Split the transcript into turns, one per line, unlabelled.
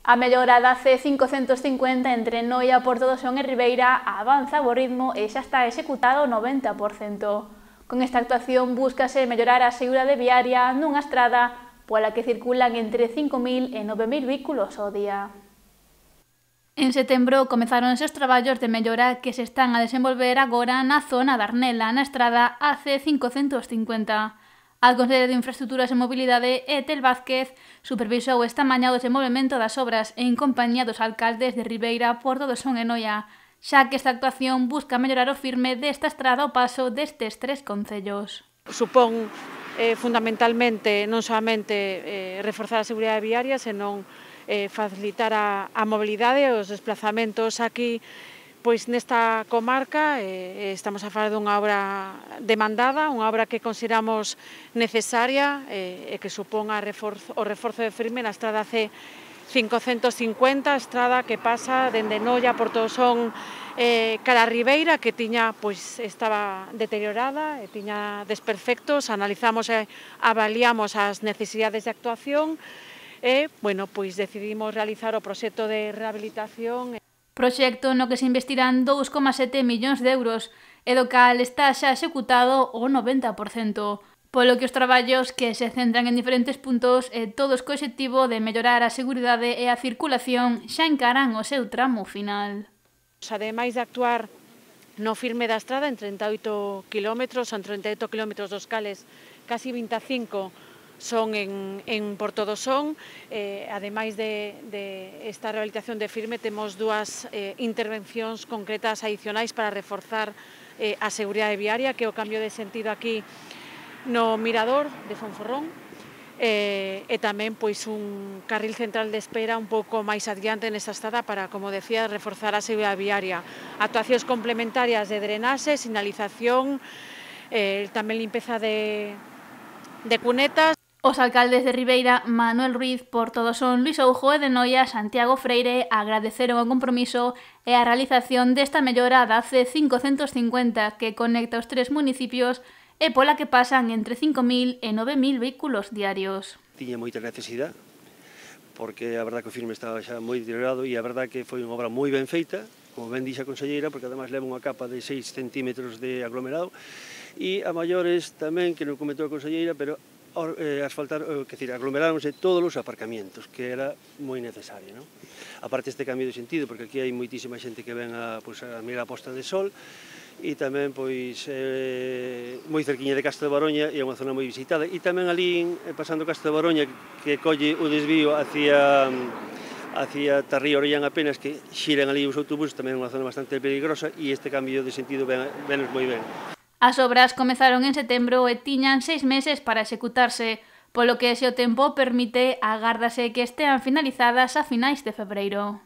A mellora da C550 entre Noia, Porto do Son e Ribeira avanza ao ritmo e xa está executado o 90%. Con esta actuación búscase mellorar a seguridade viaria nunha estrada pola que circulan entre 5.000 e 9.000 vehículos ao día. En setembro comezaron os traballos de mellora que se están a desenvolver agora na zona da Arnela, na estrada AC550. A Conselleira de Infraestructuras e Mobilidade, Etel Vázquez, supervisou esta mañá o desenvolvemento das obras en compañía dos alcaldes de Ribeira, Porto do Son e Noia, xa que esta actuación busca mellorar o firme desta estrada ao paso destes tres concellos.
Supón fundamentalmente non soamente reforzar a seguridade viaria, senón facilitar a mobilidade e os desplazamentos aquí. Pois nesta comarca estamos a falar dunha obra demandada, unha obra que consideramos necesaria e que supón o reforzo de firme na estrada C550, estrada que pasa dende Noia, Porto do Son, cara a Ribeira, que estaba deteriorada e tiña desperfectos. Analizamos e avaliamos as necesidades de actuación e, decidimos realizar o proxecto de rehabilitación.
Proxecto no que se investirán 2,7 millóns de euros e do cal está xa executado o 90%, polo que os traballos que se centran en diferentes puntos e todos co obxectivo de mellorar a seguridade e a circulación xa encaran o seu tramo final.
Ademais de actuar no firme da estrada en 38 km, son 38 km dos cales casi 25 son en Porto do Son. Ademais de esta rehabilitación de firme, temos dúas intervencións concretas adicionais para reforzar a seguridade viaria, que é o cambio de sentido aquí no mirador de Fonforrón, e tamén un carril central de espera un pouco máis adiante nesta estrada para, como decía, reforzar a seguridade viaria. Actuacións complementarias de drenaxe, sinalización, tamén limpeza de cunetas.
Os alcaldes de Ribeira, Manuel Ruiz, Porto do Son, Luís Oujo e de Noia, Santiago Freire, agradeceron o compromiso e a realización desta mellora da C550 que conecta os tres municipios e pola que pasan entre 5.000 e 9.000 vehículos diarios.
Tiña moita necesidade, porque a verdade que o firme estaba xa moi deteriorado e a verdade que foi unha obra moi ben feita, como ben dixe a conselleira, porque ademais leva unha capa de 6 centímetros de aglomerado e a maiores tamén, que non comentou a conselleira, pero asfaltar, aglomeraronse todos os aparcamientos, que era moi necesario, non? Aparte este cambio de sentido, porque aquí hai moitísima xente que ven a mirar a posta de sol, e tamén moi cerquiña de Castro de Baroña, e é unha zona moi visitada, e tamén ali, pasando Castro de Baroña, que colle o desvío hacia Tarría Orellán apenas, que xiran ali os autobuses, tamén é unha zona bastante peligrosa, e este cambio de sentido venos moi ben.
As obras comezaron en setembro e tiñan 6 meses para executarse, polo que, se o tempo permite, agárdase que estean finalizadas a finais de febreiro.